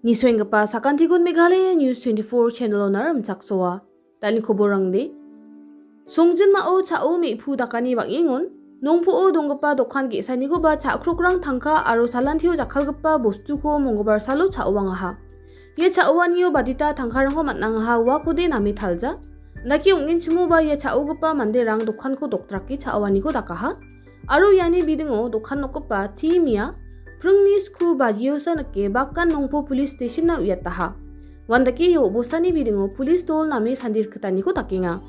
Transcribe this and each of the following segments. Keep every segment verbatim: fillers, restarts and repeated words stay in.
Nisoenggipa sakantikon Meghalaya News twenty-four channel-ona rimchaksoa. Dal·ni koborangde. Songjinmao cha·o me·pu dakani bang·engon, Nongpoh-o donggipa dokan ge·sanikoba cha·krokrang tangka aro salantio jakkalgipa bostuko monggibar salo cha·oangaha. Ia cha·oanio badita tangkarangko man·angaha uakode name talja. Dake ong·enchimoba ia cha·ogipa manderang dokanko dokdrake cha·oaniko dakaha. Aro iani bidingo dokan nokgipa T Mia pringni sku bajiosa nike Bakan Nongpoh Police Station-na uiataha. Uandake ia obostani bidingo police dol name sandirkitaniko dakenga.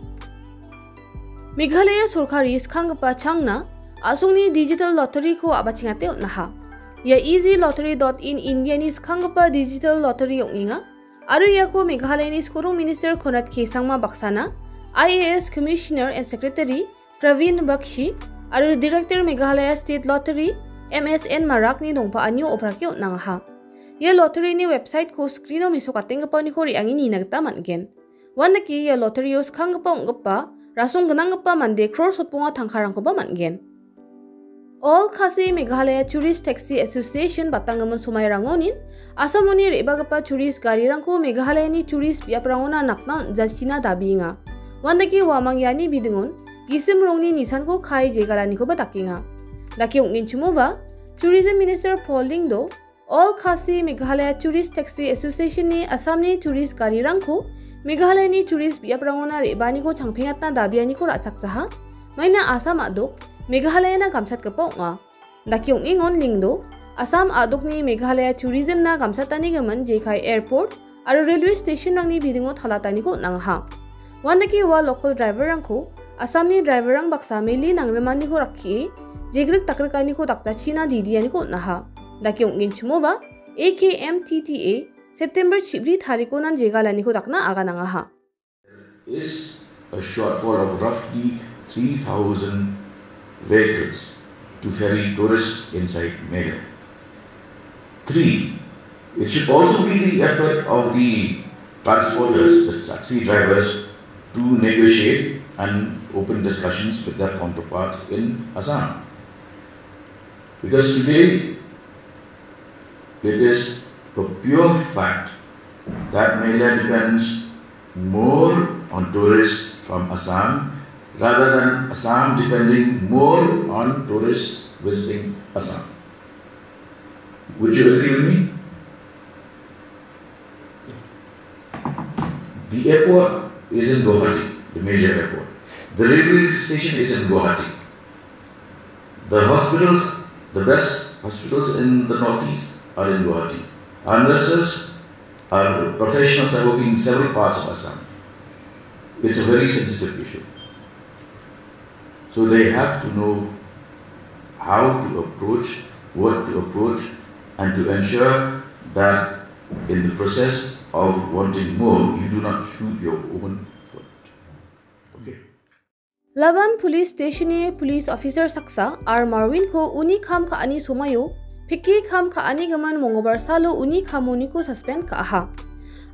Meghalaya sorkari skanggipa changna a·songni digital lottery-ko a·bachengate on·aha. Ia easy lottery dot in India-ni skanggipa digital lottery ong·enga. Aro iako Meghalayani skorong minister Conrad K Sangma baksana, I A S Commissioner and Secretary Praveen Bakshi, aro Director Meghalaya State Lottery, M S N Marakni dongpa·anio obrake on·angaha. Ia lottery-ni website-ko screen-o mesokatenggipaoniko re·ange nina gita man·gen. Uandake ia lottery-o skanggipa ong·gipa, rasong gnanggipa mande crore sotbonga tangkarangkoba man·gen. All Khasi Meghalaya Tourist Taxi Association batanggimin somairangonin Assamoni re·bagipa tourist garirangko Meghalayani tourist biaprangona napna on·jachina dabienga. Uandake uamang iani bidingon gisim rongni nisanko kae jegalanikoba dakenga. Dake ong·genchimoba, Tourism Minister Paul Lyngdoh, All Khasi Meghalaya Tourist Taxi Association-ni Assamni tourist garirangko Meghalayani tourist biaprangona re·baaniko changpengatna dabianiko ra·chakjaha. Maina Assam a·dok Meghalayana gamchatgipa ong·a. Dake ong·engon Lyngdoh, Assam a·dokni Meghalaya tourism-na gamchatanigimin jekai airport aro railway station-rangni bidingo talataniko on·angaha. Uandake ua local driver-rangko Assamni driver-rang baksa meli nangrimaniko rakkie, jegrik dakrikaniko dakjachina didianiko on·aha. Dake ong·genchimoba, A K M T T A September chibri tarikonan jegalaniko dakna aganangaha. Is a shortfall of roughly three thousand vehicles to ferry tourists inside Meghalaya. Three, it should also be the effort of the transporters, the taxi drivers, to negotiate and open discussions with their counterparts in Assam. Because today, it is a pure fact that Meghalaya depends more on tourists from Assam rather than Assam depending more on tourists visiting Assam. Would you agree with me? The airport is in Guwahati, the major airport. The railway station is in Guwahati. The hospitals, the best hospitals in the Northeast are in Guwahati. Our nurses, our professionals are working in several parts of Assam. It's a very sensitive issue. So they have to know how to approach, what to approach, and to ensure that in the process of wanting more, you do not shoot your own foot. Okay. Laban Police Station-ni police officer saksa R Marwin-ko uni kam ka·ani somaio peke kam ka·anigimin monggibar salo uni kamoniko suspend ka·aha.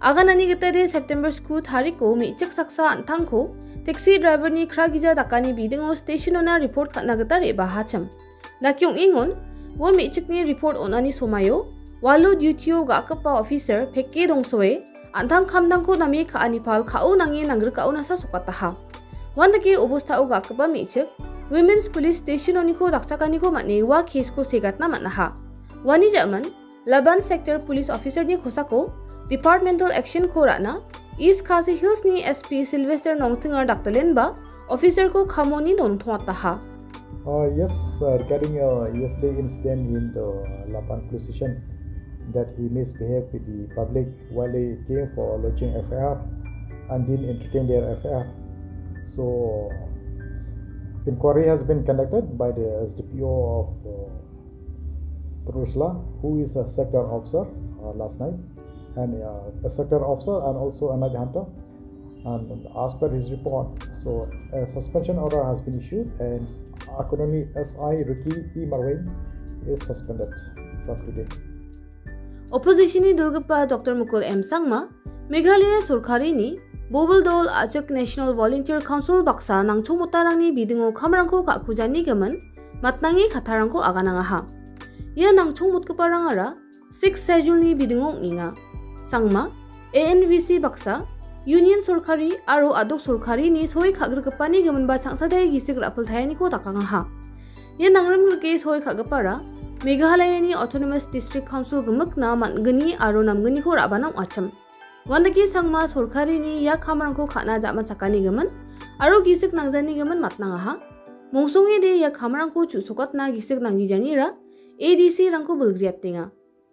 Aganani gitade September sku tariko me·chik saksa an·tangko taxi driver-ni kragija dakani bidingo station-ona report ka·na gita re·bahachim. Dake ong·engon, ua me·chikni report on·ani somaio, walo duty-o ga·gipa officer peke dongsoe, an·tang kamtangko name ka·ani pal ka·o nange nanggrikaonasa sokataha. Uandake obostao ga·gipa me·chik, Women's Police Station-oniko dakchakaniko man·e ua case-ko segatna man·aha. Uani ja·man, Laban Sector Police Officer-ni kosako departmental action-ko ra·na East Khasi Hills-ni S P Sylvester Nongtingar dakdalenba officer-ko kamoni dongtongataha. Uh, yes, uh, regarding, uh, yesterday incident in the Laban police station, that he misbehaved with the public while he came for lodging F I R and didn't entertain their F I R. So, inquiry has been conducted by the S D P O of, uh, Pynursla, who is a sector officer, uh, last night, and, uh, a sector officer and also a night hunter. And as per his report, so a suspension order has been issued and accordingly S I Ricky E Marwin is suspended from today. Opposition-ni dilgipa Doctor Mukul M Sangma, Meghalaya sorkarini Bobil dol a·chik National Volunteer Council baksa nangchongmotarangni bidingo kamrangko ka·kujanigimin matnange kattarangko aganangaha. Ia nangchongmotgiparangara Sixth Schedule-ni bidingo ong·enga. Sangma, A N V C baksa, Union sorkari aro a·dok sorkarini soi ka·grikgipani giminba changsadai gisik ra·piltaeniko dakangaha. Ia nangrimgrike soi ka·gipara Meghalayani Autonomous District Council gimikna man·gni aro namgniko ra·bana ong·achim. Uandake Sangma sorkarini ia kamrangko ka·na ja·machakani gimin aro gisik nangjani gimin matnangaha. Mongsongede ia kamrangko chu·sokatna gisik nanggijanira A D C-rangko bilgriatenga.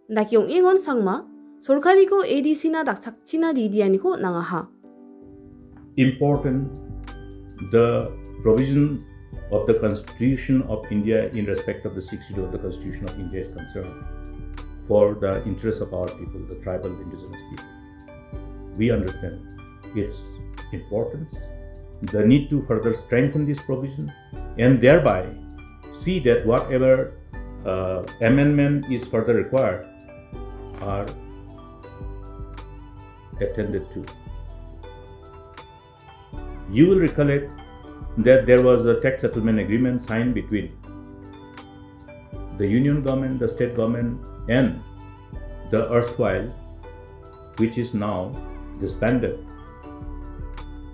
Dake ong·engon Sangma sorkariko A D C-na dakchakchina didianiko on·angaha. Important, the provision of the Constitution of India in respect of the Sixth Schedule of the Constitution of India is concerned for the interests of our people, the tribal indigenous people. We understand its importance, the need to further strengthen this provision, and thereby see that whatever, uh, amendment is further required are attended to. You will recollect that there was a tax settlement agreement signed between the union government, the state government, and the erstwhile, which is now disbanded,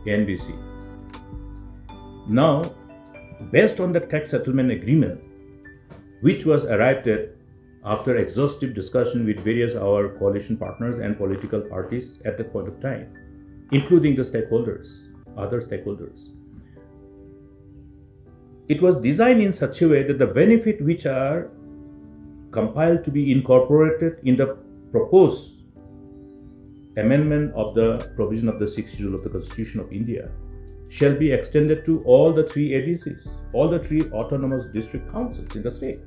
N B C. Now, based on the tax settlement agreement, which was arrived at after exhaustive discussion with various our coalition partners and political parties at that point of time, including the stakeholders, other stakeholders, it was designed in such a way that the benefit which are compiled to be incorporated in the proposed amendment of the provision of the Sixth Schedule of the Constitution of India shall be extended to all the three A D Cs, all the three autonomous district councils in the state.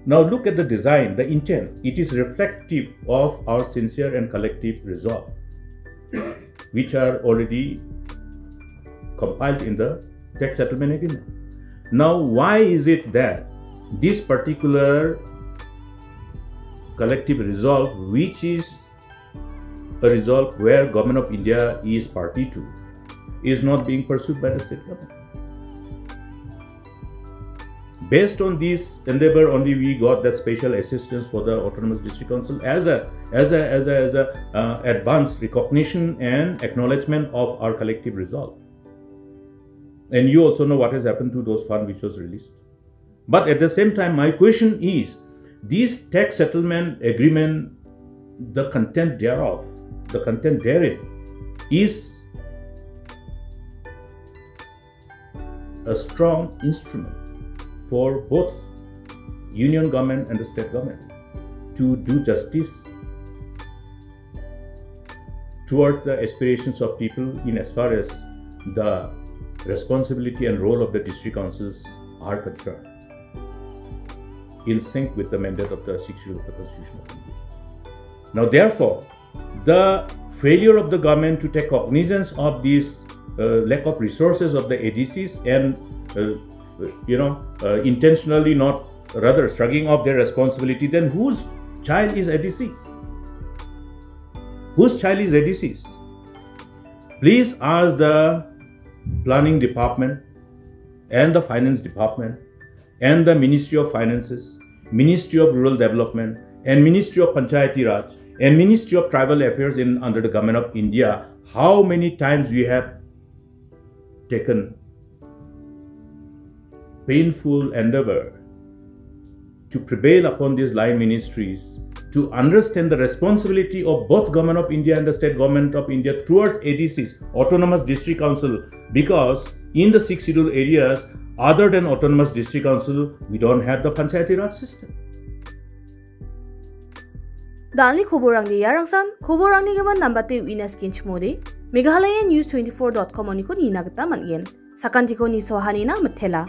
Now look at the design, the intent. It is reflective of our sincere and collective resolve, which are already compiled in the tax settlement agreement. Now, why is it that this particular collective resolve, which is a resolve where Government of India is party to, is not being pursued by the state government? Based on this endeavor only, we got that special assistance for the Autonomous District Council as a, as a, as a, as a, uh, advance recognition and acknowledgement of our collective resolve. And you also know what has happened to those fund which was released. But at the same time, my question is, this tax settlement agreement, the content thereof, the content therein is a strong instrument for both union government and the state government to do justice towards the aspirations of people in as far as the responsibility and role of the district councils are concerned, in sync with the mandate of the Sixth Schedule of the Constitution of India. Now, therefore, the failure of the government to take cognizance of this, uh, lack of resources of the A D Cs and, uh, you know, uh, intentionally not, rather, shrugging off their responsibility, then whose child is A D Cs? Whose child is A D Cs? Please ask the planning department and the finance department and the Ministry of Finances, Ministry of Rural Development, and Ministry of Panchayati Raj, and Ministry of Tribal Affairs in, under the Government of India, how many times we have taken painful endeavor to prevail upon these line ministries to understand the responsibility of both Government of India and the State Government of India towards A D Cs, Autonomous District Council, because in the Sixth Schedule areas, other than Autonomous District Council, we don't have the Panchayati Raj system. Dalni koborangde iarangsan, koborangni gimin nambate uina skinchimode, Meghalaya News twenty-four dot com oniko nina gita man·gen. Sakantiko nisoahanina mitela.